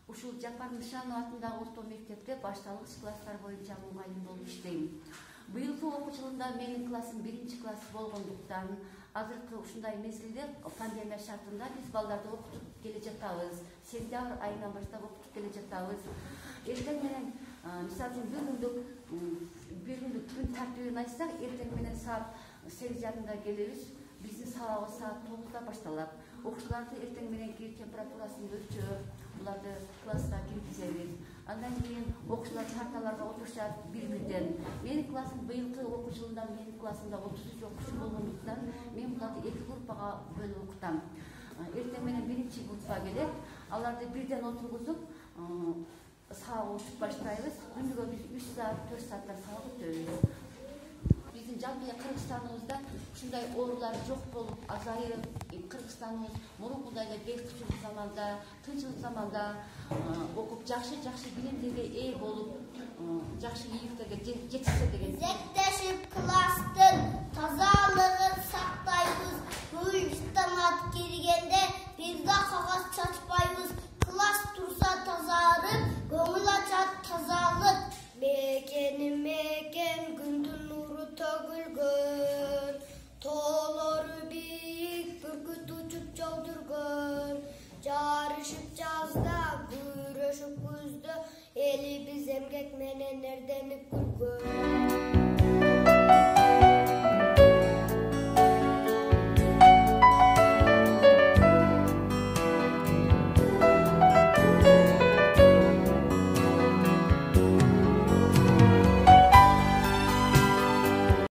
Ушул Жапар Нышанов атындагы орто мектепте башталгыч класстар боюнча мугалим болуп иштейм. Быйылкы окуу жылында менин классым 1-класс болгондуктан азыркы ушундай мезгилде пандемия шартында биз балдарды окутуп келе жатабыз. Сентябрь айынан баштап окутуп келе жатабыз. Эртең менен мисалы үчүн бир күндүк күн тартибин айтсак, эртең менен саат 8:30 келебиз. Биздин сабагыбыз саат 9:00 башталат. Окуучуларды эртең мененки температурасын өлчөп, буларды класска киргизебиз. Андан кийин окуучулар парталарга отурушат бир-бирден. Менин классым быйылкы окуу жылында менин классымда 33 окуучу болгондуктан мен буларды 2 группага бөлүп окутам. Эртең менен биринчи группа келет. Аларды бирден отургузуп, сабак окутуп баштайбыз. Күнүгө биз 3 саат, 4 сааттан сабак өтөбүз. Биздин жалпы Кыргызстаныбызда ушундай оорулар жок болуп, азайып, Кыргызстаныбыз мурункудай эле бейкучулук заманда, тынччылык заманда окуп жакшы билимдерге ээ болуп, жакшы ийгиликтерге жетишсе деген. Зектешип класстын тазалыгын сактайбыз. Уюштан ат киргенде бир да кагаз